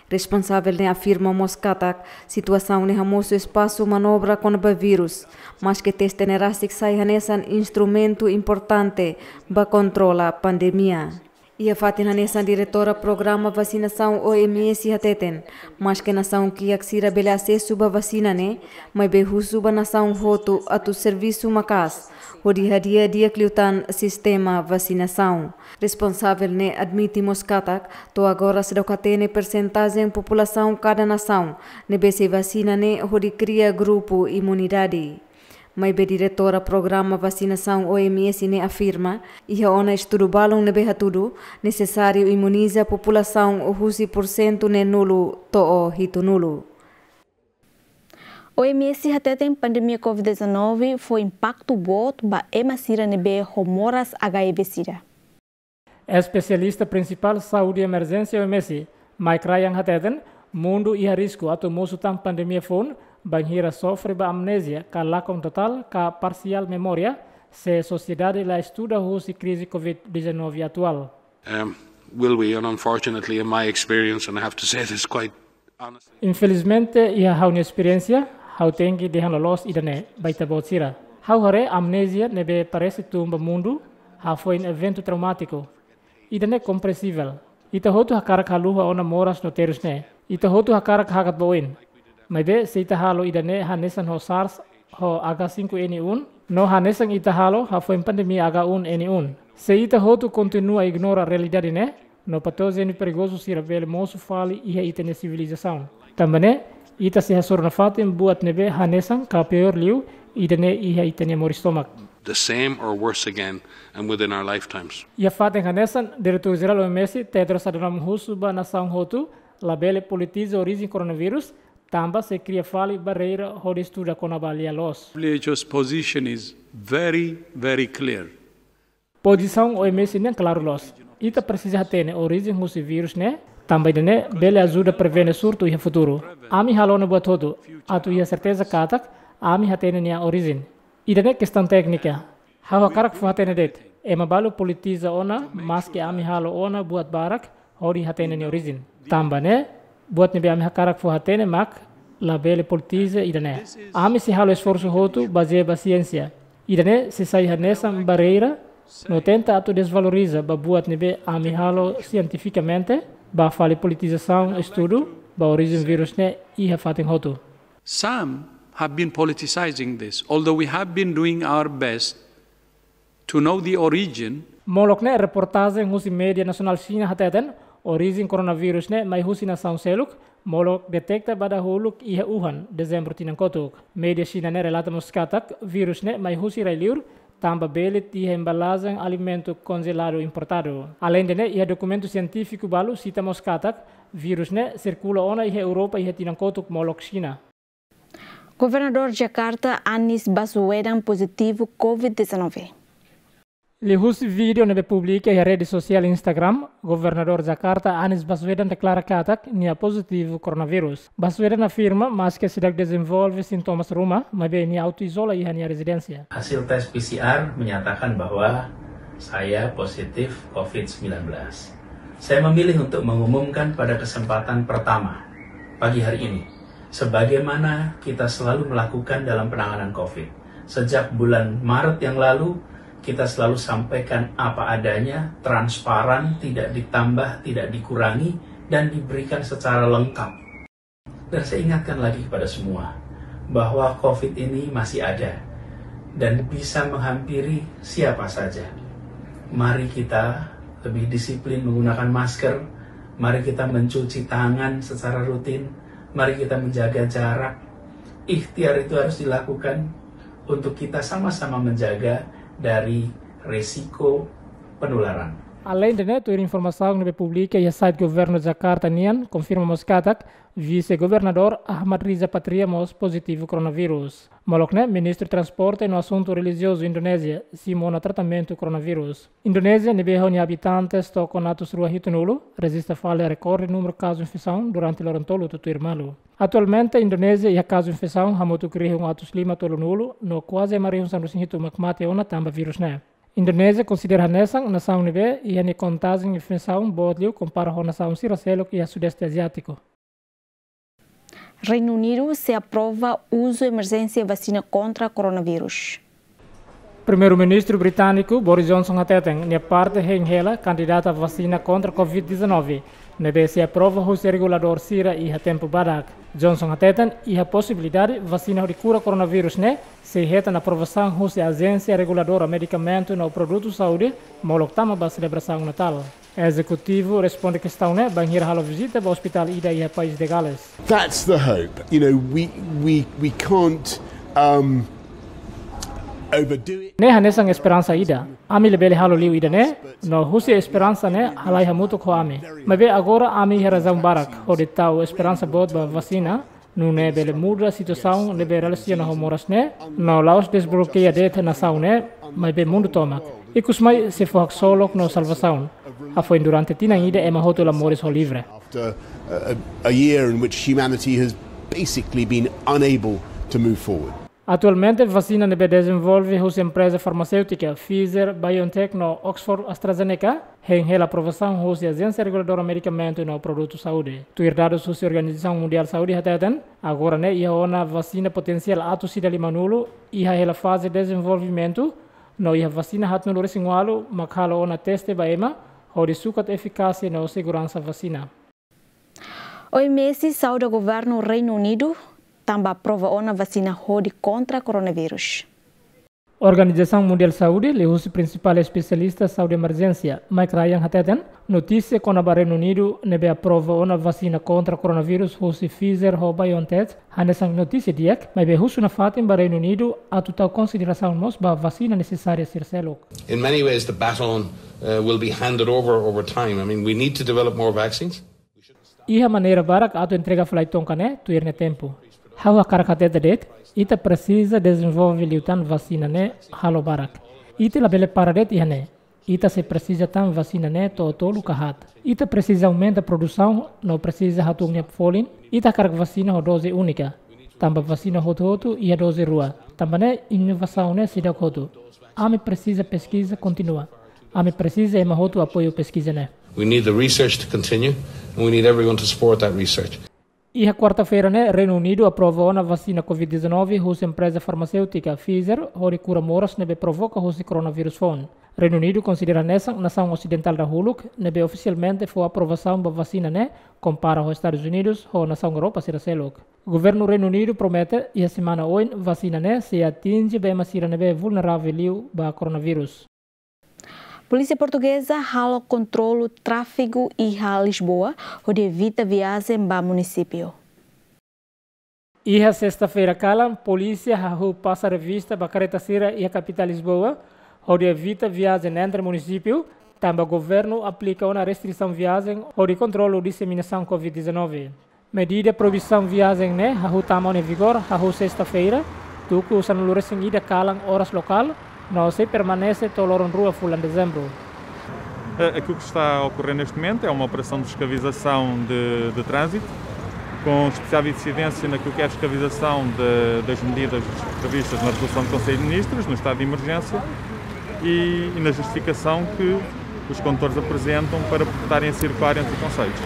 Responsavel ne'e afirma mós katak situasaun ne'e hamosu espasu manobra kona-ba vírus, maske teste ne'e rasik sai hanesan instrumentu importante ba kontrola pandemia. Iha fatin hanesan diretora programa vasinasaun O M S hateten, maske nasaun kiak sira bele asesu ba vasina ne'e, maibé husu ba nasaun hotu atu servisu maka'as hodi hadi'a di'ak liután sistema vasinasaun. Responsavel ne'e admite mós katak, to'o agora seidauk hatene persentajen populasaun kada nasaun ne'ebé sei vasina ne'e hodi kria grupu imunidade. Maibé diretora programa vasinasaun O M S ne'e afirma, iha ona estudu balun ne'ebé hatudu nesesáriu imuniza populasaun husi pursentu neenulu to'o hitunulu. O M S hateten pandemia covid dezanove fó impaktu boot ba ema sira ne'ebé ho moras H I V sida. Espesialista prinsipál saúde emerjénsia O M S, Mike Ryan hateten, mundu iha risku atu mosu tan pandemia foun, bainhira sofre ba amnézia, ka lakon totál, ka parsiál memória, se sosiedade la estuda husi krize covid dezanove atuál. Um, will we? And unfortunately, in my experience, and I have to say this quite honestly. Infelizmente, iha ha'u-nia esperiénsia, ha'u tenke dehan loloos ida-ne'e ba ita-boot sira. Ha'u haree amnézia ne'ebé parese tun ba mundu, hafoin eventu traumátiku. Ida-ne'e kompreensivel. Ita hotu hakarak haluha ona moras no terus ne'e. Ita hotu hakarak hakat ba oin. Maibé, se ita halo ida-ne'e hanesan ho SARS, ho H cinco N um, no hanesan ita halo hafoin pandemia H um N um. Se ita hotu kontinua ignora realidade ne'e, no patójenu perigozu sira bele mosu fali iha ita-nia sivilizasaun. Tanba ne'e, ita sei hasoru nafatin buat ne'ebé hanesan ka piór liu ida-ne'e iha ita-nia moris tomak. The same or worse again, and within our lifetimes. Iha fatin hanesan, Diretór Jerál O M S, Tedros Adhanom husu ba nasaun hotu, labele politiza orijen koronavírus, tanba sei kria fali barreira hodi estuda kona-ba lia-loos. W H O's position is very, very clear. Pozisaun O M S nian klaru loos. Ita presiza hatene orijen husi vírus ne'e, tanba ida-ne'e bele ajuda prevene surtu iha futuru. Ami halo ona buat hotu, atu iha serteza katak, ami hatene nia orijen. Ida-ne'e kestaun téknika. Ha'u hakarak fó hatene de'it. Ema balu politiza ona, maske ami halo ona buat barak, hodi hatene nia orijen. Tanba ne'e, buat ne'ebé ami hakarak fó hatene mak, labele politiza ida-ne'e. Ami sei halo esforsu hotu bazeia ba siénsia. Ida-ne'e sei sai hanesan barreira, no tenta atu desvaloriza ba buat ne'ebé ami halo sientifikamente, ba fali politizasaun estudu ba orijen vírus ne'e iha fatin hotu. Some have been politicizing this, although we have been doing our best to know the origin. Molok ne'e reportajen husi média nasionál Xina hateten, orijen koronavírus ne'e mai husi nasaun seluk, molok deteta ba dahuluk iha Wuhan, Dezembru tinan kotuk. Média Xina ne'e relata mós katak vírus ne'e mai husi rai-liur, tanba belit iha embalajen alimentu konjeladu importadu. Aleinde ne'e, iha dokumentu sientífiku balu sita mós katak vírus ne'e sirkula ona iha Europa iha tinan kotuk molok Xina. Governadór Jakarta, Anies Baswedan, pozitivu covid dezanove. Liuhusi vídeo ne'ebé publika iha rede sosiál Instagram, Governadór Jakarta, Anies Baswedan, deklara katak nia pozitivu koronavírus. Baswedan afirma, maske seidauk dezenvolve sintomas ruma, maibé nia auto-izola iha nia rezidénsia. Hasil tes P C R menyatakan bahwa saya positif covid sembilan belas. Saya memilih untuk mengumumkan pada kesempatan pertama pagi hari ini, sebagaimana kita selalu melakukan dalam penanganan covid. Sejak bulan Maret yang lalu, kita selalu sampaikan apa adanya, transparan, tidak ditambah, tidak dikurangi, dan diberikan secara lengkap. Dan saya ingatkan lagi kepada semua bahwa covid ini masih ada dan bisa menghampiri siapa saja. Mari kita lebih disiplin menggunakan masker, mari kita mencuci tangan secara rutin, mari kita menjaga jarak. Ikhtiar itu harus dilakukan untuk kita sama-sama menjaga dari resiko penularan. Aleinde ne'e, tuir informasaun ne'ebé publika iha site Governu Jakarta nian, konfirma mós katak Vise-Governadór Ahmad Riza Patria mós pozitivu koronavírus. Molok ne'e, Ministru Transporte no Asuntu Relijiozu Indonézia simu ona tratamentu koronavírus. Indonézia ne'ebé ho nia abitantes to'o atus rua hitunulu, rejista fali rekorde númeru kazu infesaun durante loron tolu tutuir malu. Atualmente, Indonézia iha kazu infesaun hamutuk rihun atus lima tolunulu, no kuaze ema rihun sanulu-resin-hitu mak mate ona tanba vírus ne'e. Indonézia konsidera hanesan nasaun ne'ebé iha nia kontajen infesaun boot liu kompara ho nasaun sira seluk iha Sudeste Aziátiku. Reinu Unidu sei aprova uzu emerjénsia vasina kontra koronavírus. Primeiru-Ministru britániku Boris Johnson hateten, nia parte hein hela kandidata vasina kontra covid dezanove, ne'ebé sei aprova husi reguladór sira iha tempu badak. Johnson hateten, iha posibilidade vasina hodi kura koronavírus ne'e sei hetan aprovasaun husi Ajénsia Reguladora Medikamentu no Produtu Saúde, molok tama ba selebrasaun Natál. Ezekutivu responde kestaun ne'e bainhira halo vizita ba ospitál ida iha país de Gales. That's the hope. You know, we, we, we can't, um, overdo it. Ne'e hanesan esperansa ida. Ami labele halo liu ida-ne'e, no husi esperansa ne'e halai hamutuk ho ami. Maibé agora ami iha razaun barak hodi tau esperansa boot ba vasina, nune'e bele muda situasaun ne'ebé relasiona ho moras ne'e, no la'ós desblokeia de'it nasaun ne'e, maibé mundu tomak. Ikus mai sei fó haksolok no salvasaun. Hafoin durante tinan ida ema hotu la moris ho livre. After a, a, a year in which humanity has basically been unable to move forward. Atualmente, vasina ne'ebé dezenvolve husi empreza farmaséutika Pfizer, BioNTech no Oxford AstraZeneca hein hela aprovasaun husi Ajénsia Reguladora Medikamentu no Produtu Saúde. Tuir dadus husi Organizasaun Mundiál Saúde hateten, agora ne'e iha ona vasina potensiál atus ida limanulu iha hela faze dezenvolvimentu, no iha vasina haatnulu-resin-ualu mak halo ona teste ba ema, hodi sukat efikásia no seguransa vasina. OMS sauda Governu Reinu Unidu tanba aprova ona vasina hodi kontra koronavírus. Organizasaun Mundiál Saúde, liuhusi prinsipál espesialista saúde emerjénsia, Mike Ryan hateten, notísia kona-ba Reinu Unidu ne'ebé aprova ona vasina kontra koronavírus husi Pfizer ho BioNTech hanesan notísia di'ak, maibé husu nafatin ba Reinu Unidu atu tau konsiderasaun mós ba vasina nesesária sira seluk. In many ways, the baton, uh, will be handed over over time. I mean, we need to develop more vaccines. Iha maneira barak atu entrega fali tonka ne'e tuir nia tempu. Ha'u hakarak hatete de'it, ita presiza dezenvolve liután vasina ne'e halo barak. Ita labele para de'it iha ne'e. Ita sei presiza tan vasina ne'e to'o tolu ka haat. Ita presiza aumenta produsaun no presiza hatun nia folin. Ita hakarak vasina ho doze únika. Tanba vasina hotu-hotu iha doze rua. Tanba ne'e inovasaun ne'e seidauk hotu. Ami presiza peskiza kontinua. Ami presiza ema hotu apoiu peskiza ne'e. We need the research to continue, and we need everyone to support that research. Iha kuarta-feira ne'e, Reinu Unidu aprova ona vasina covid dezanove husi empreza farmaséutika Pfizer, hodi kura moras ne'ebé provoka husi koronavírus foun. Reinu Unidu konsidera hanesan nasaun osidentál dahuluk ne'ebé ofisialmente fó aprovasaun ba vasina ne'e, kompara ho Estadus Unidus ho nasaun Europa sira seluk. Governu Reinu Unidu promete, iha semana oin, vasina ne'e sei atinje ba ema sira ne'ebé vulneravel liu ba koronavírus. Polísia Portugeza halo kontrolu tráfegu iha Lisboa, hodi evita viajen ba munisípiu. Iha sesta-feira kalan, polísia hahú pasa revista ba kareta sira iha kapitál Lisboa, hodi evita viajen entre munisípiu, tanba governu aplika ona restrisaun viajen hodi kontrolu diseminasaun covid dezanove. Medida proibisaun viajen ne'e hahú tama ona vigór hahú sesta-feira, tuku sanulu-resin-ida kalan oras lokál, no sei permanese to'o loron rua fulan Dezembru. Eh, aquilo que está a ocorrer neste momento é uma operação de fiscalização de, de trânsito, com especial incidência naquilo que é a fiscalização de, das medidas previstas na resolução do Conselho de Ministros, no estado de emergência, e, e na justificação que os condutores apresentam para estarem a circular entre concelhos,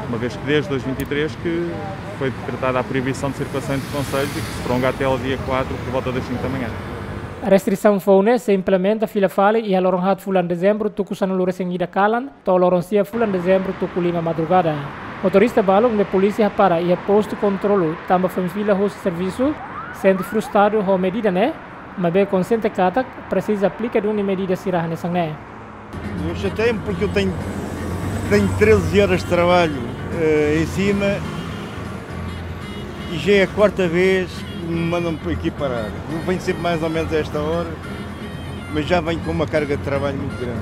uma vez que desde dois mil e vinte e três que foi decretada a proibição de circulação entre concelhos e que se prolonga até ao dia quatro, por volta das cinco da manhã. Restrisaun foun ne'e sei implementa fila fali iha loron haat fulan Dezembru tuku sanulu-resin-ida kalan, to'o loron sia fulan Dezembru tuku lima madrugada. Motorista balun ne'ebé polísia hapara iha postu kontrolu tanba foin fila husi servisu, sente frustradu ho medida ne'e, maibé konxiente katak presiza aplika duni medida sira hanesan ne'e. Não chateia-me porque eu tenho, tenho treze horas de trabalho, eh, em cima e já é a quarta vez que me mandam por aqui parar. Eu venho sempre mais ou menos a esta hora, mas já venho com uma carga de trabalho muito grande.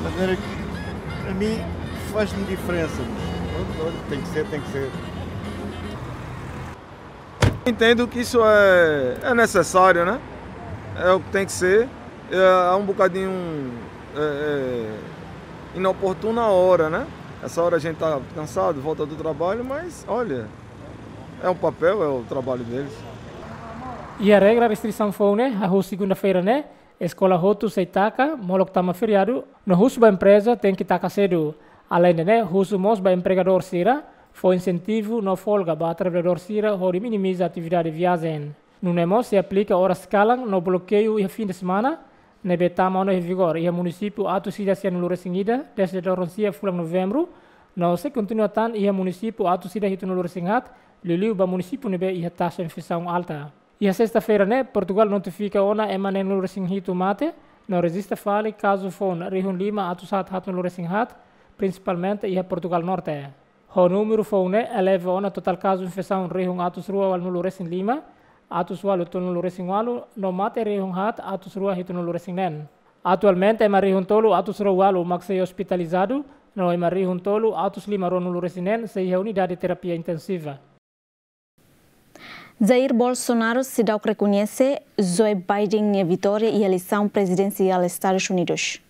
Mas era, a mim faz-me diferença, mas pronto, olha, tem que ser, tem que ser. Entendo que isso é, é necessário, né? É o que tem que ser. É, é um bocadinho, é, é, inoportuna a hora, né? Essa hora a gente tá cansado, volta do trabalho, mas, olha, é um papel, é o trabalho deles. Iha regra restrisaun foun ne'e, hahú segunda-feira ne'e, eskola hotu sei taka, molok tama feriadu, no husu ba empreza tenke taka sedu. Aleinde ne'e, husu mós ba empregadór sira fó insentivu no folga ba traballadór sira hodi minimiza atividade viajen. Nune'e mós sei aplika oras kalan no blokeiu iha fin de semana, ne'ebé tama ona iha vigór iha munisípiu atus ida sianulu-resin-ida dezde loron sia fulan Novembru, no sei kontinua tan iha munisípiu atus ida hitunulu-resin-haat, liuliu ba munisípiu ne'ebé iha taxa infesaun alta. Iha sesta-feira ne'e, Portugal notifika ona ema neenulu-resin-hitu mate, no rejista fali kazu foun rihun lima atus haat haatnulu-resin-haat, prinsipalmente iha Portugal Norte. Ho númeru foun ne'e eleva ona totál kazu infesaun rihun atus rua ualunulu-resin-lima, atus ualu tolunulu-resin-ualu, no mate rihun haat atus rua hitunulu-resin-neen. Atualmente ema rihun tolu atus rua ualu mak sei ospitalizadu, no ema rihun tolu atus lima ruanulu-resin-neen sei iha unidade terapia intensiva. Jair Bolsonaro seidauk rekoñese Joe Biden nia vitória iha eleisaun prezidensiál Estadus Unidus.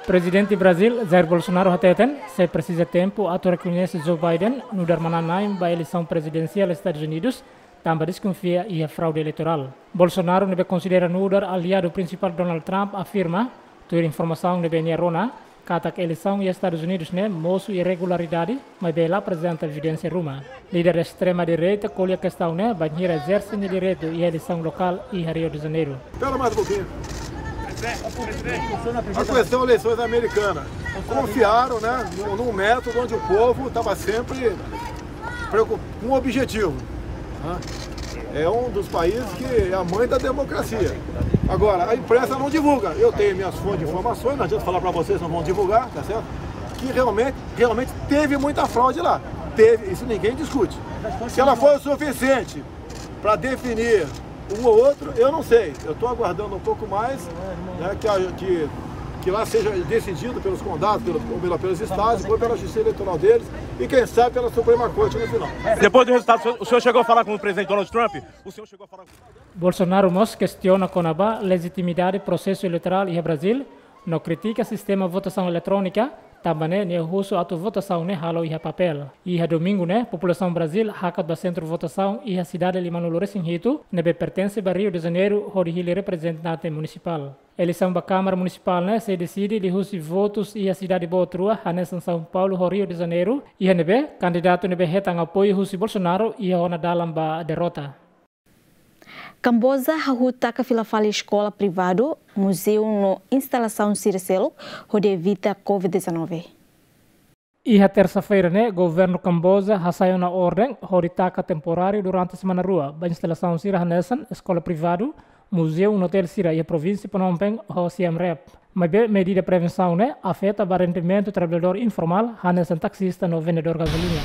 Prezidente Brazil, Jair Bolsonaro hateten, sei presiza tempu atu rekoñese Joe Biden nu'udar manán-na'in ba eleisaun prezidensiál Estadus Unidus, tanba deskonfia iha fraude eleitorál. Bolsonaro ne'ebé konsidera nu'udar aliadu prinsipál Donald Trump afirma, tuir informasaun ne'ebé nia rona, katak eleisaun iha Estadus Unidus ne'e mosu irregularidade, maibé la aprezenta evidénsia ruma. Líder estrema-direita ko'alia kestaun ne'e bainhira ezerse nia direitu iha eleisaun lokál iha Rio de Janeiro. Espera mais um pouquinho. A questão eleições americanas. Confiaram, né, num, num método onde o povo tava sempre preocup-, com um objetivo, né? É um dos países que é a mãe da democracia. Agora, a imprensa não divulga. Eu tenho minhas fontes de informações, não adianta falar pra vocês, não vão divulgar, tá certo? Que realmente, realmente teve muita fraude lá. Teve, isso ninguém discute. Se ela foi o suficiente pra definir um ou outro, eu não sei. Eu tô aguardando um pouco mais, né, que a, que, que lá seja decidido pelos condados, pelo, ou pela, pelos estados, depois pela justiça eleitoral deles e, quem sabe, pela Suprema Corte no final. Depois do resultado, o senhor, o senhor chegou a falar com o presidente Donald Trump? O senhor chegou a falar com... Bolsonaro mós kestiona kona-ba lejitimidade prosesu eleitorál iha Brazil, no kritika sistema votasaun eletrónika, Tanba ne'e nia husu atu votasaun ne'e halo iha papél. Iha domingu ne'e, populasaun Brazíl hakat ba sentru votasaun iha sidade limanulu resin hitu, ne'ebé pertense ba Rio de Janeiro, hodi hili reprezentante munisipál. Eleisaun ba Kámara Munisipál ne'e sei deside liuhusi votus iha sidade boot rua, hanesan São Paulo ho Rio de Janeiro, iha ne'ebé kandidatu ne'ebé hetan apoiu husi Bolsonaro iha ona dalan ba derrota. Kamboja hahú taka fila fali eskola privadu, muzeu no instalasaun sira seluk hodi evita covid dezanove. Iha tersa-feira ne'e, governu Kamboja hasai ona orden hodi taka temporáriu durante semana rua ba instalasaun sira hanesan eskola privadu, muzeu no hotel sira iha provínsia Phnom Penh ho Siem Reap. Maibé medida prevensaun ne'e afeta ba rendimentu traballadór informál hanesan taksista no vendedór gazolina.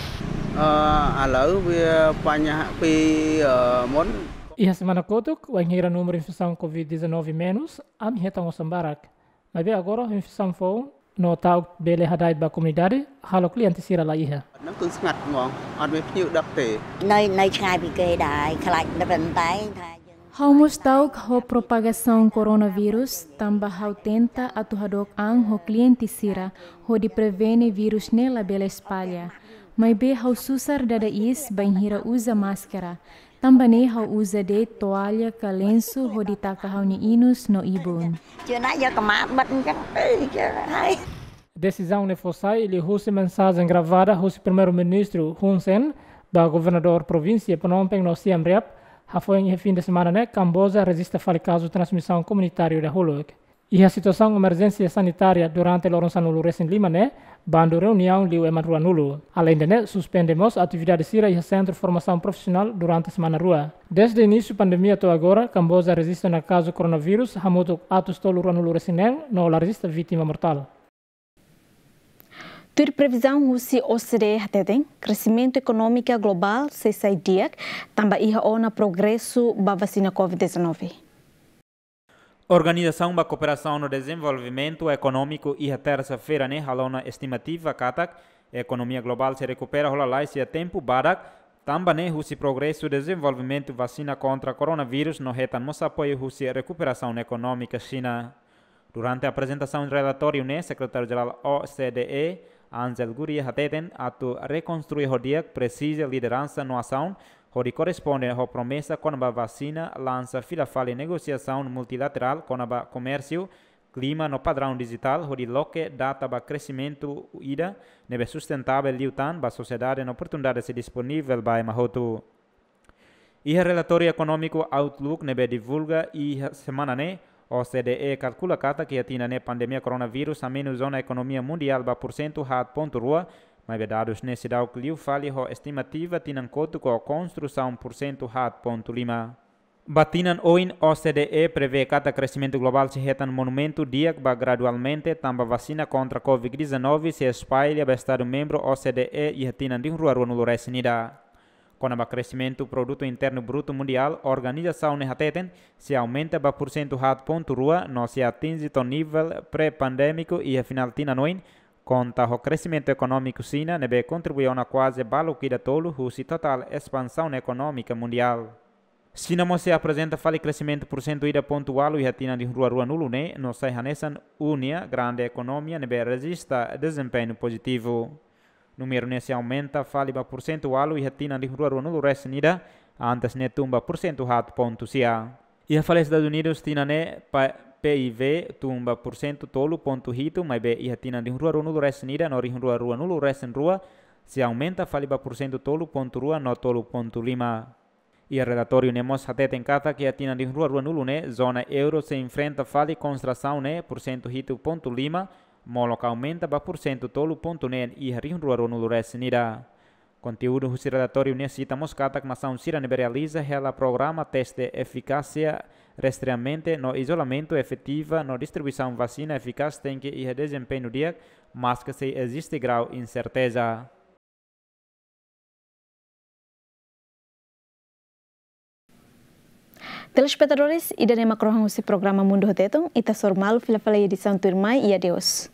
Ah, halo be panha pe, ah, mon. Iha semana kotuk, wainhira númeru infesaun covid dezanove menus, ami hetan osan barak. Maibé agora infesaun foun no ta'uk bele hada'et ba komunidade, halo kliente sira la iha. Nang tun sangat ngong, adu me piu dapte. Nai, nai cai bi ke dai, kalak da bentai, thai. Ha'u mós ta'uk ho propagasaun koronavírus, tanba ha'u tenta atu hadook an ho kliente sira, hodi prevene vírus ne'e labele espalla. Maibé ha'u susar dada iis bainhira uza máskara. Tanba ne'e ha'u uza de'it toalla ka lensu hodi taka ha'u-nia inus no ibun. Cina ya kemabat kan, eh, ya, hai. Desizaun ne'e fó sai liuhusi mensajen gravada husi Primeiru-Ministru Hun Sen ba governadór provínsia Phnom Penh no Siem Reap, hafoin iha fin de semana ne'e Kamboja rejista fali kazu transmisaun komunitáriu dahuluk. Iha situasaun emerjénsia sanitária durante loron sanulu resin lima ne'e, bandu reuniaun liu ema ruanulu. Aleinde ne'e, suspende mós atividade sira iha sentru formasaun profisionál durante semana rua. Dezde inísiu pandemia to'o agora, Kamboja rejista ona kazu koronavírus hamutuk atus tolu ruanulu resin neen no la rejista vítima mortál. Tuir previzaun husi O C D E hateten, kresimentu ekonómika globál sei sai di'ak, tanba iha ona progresu ba vasina covid dezanove. Organizasaun ba Kooperasaun no Dezenvolvimentu Ekonómiku iha tersa-feira ne'e halo ona estimativa katak ekonomia globál sei rekupera ho lalais iha tempu badak, tanba ne'e husi progresu dezenvolvimentu vasina kontra koronavírus no hetan mós apoiu husi rekuperasaun ekonómika Xina. Durante aprezentasaun relatóriu ne'e, Sekretáriu-Jerál O C D E, Angel Gurría hateten atu rekonstrui ho di'ak presiza lideransa no asaun, hodi korresponde ho promesa kona-ba vasina, lansa fila fali negosiasaun multilaterál kona-ba komérsiu, klima no padraun dijitál, hodi loke data ba kresimentu ida ne'ebé sustentável liután ba sosiedade no oportunidade sei disponivel ba ema hotu. Iha relatóriu ekonómiku Outlook ne'ebé divulga iha semana ne'e, O C D E kalkula katak iha tinan ne'e pandemia koronavírus hamenus ona ekonomia mundiál ba pursentu haat pontu rua, maibé dadus ne'e seidauk liu fali ho estimativa tinan kotuk ho konstrusaun pursentu haat pontu lima. Ba tinan oin, O C D E prevee katak kresimentu globál sei hetan movimentu di'ak ba gradualmente, tanba vasina kontra covid dezanove sei espalla ba estadu membru O C D E iha tinan rihun rua ruanulu resin ida. Kona-ba kresimentu Produtu Internu Brutu Mundiál, organizasaun ne'e hateten sei aumenta ba pursentu haat pontu rua no sei atinje to'o nivel pré-pandémiku iha final tinan oin, konta ho kresimentu ekonómiku Xina ne'ebé kontribui ona kuaze baluk ida tolu husi totál espansaun ekonómika mundiál. Xina mós sei aprezenta fali kresimentu pursentu ida pontu ualu iha tinan rihun rua ruanulu ne'e no sai hanesan uni-an grande ekonomia ne'ebé rejista dezempeñu pozitivu. Númeru ne'e sei aumenta fali ba pursentu ualu iha tinan rihun rua ruanulu resin ida, antes ne'e tun ba pursentu haat pontu sia. Iha fali Estadus Unidus, tinan ne'e pa-, P I V tun ba pursentu tolu pontu hitu, maibé iha tinan rihun rua ruanulu resin ida no rihun rua ruanulu resin rua sei aumenta fali ba pursentu tolu pontu rua no tolu pontu lima. Iha relatóriu ne'e mós hateten katak iha tinan rihun rua ruanulu ne'e zona euro sei enfrenta fali kontrasaun ne'e pursentu hitu pontu lima, molok aumenta ba pursentu tolu pontu neen iha rihun rua ruanulu resin ida. Konteúdu husi relatóriu ne'e sita mós katak nasaun sira ne'ebé realiza hela programa teste efikásia, rastreamentu no izolamentu efetiva no distribuisaun vasina efikás tenke iha dezempeñu di'ak, maske sei eziste grau inserteza. Telespetadores, ida-ne'e mak rohan husi programa Mundu ho Tetun, ita hasoru malu fila fali iha edisaun tuirmai, i adeus.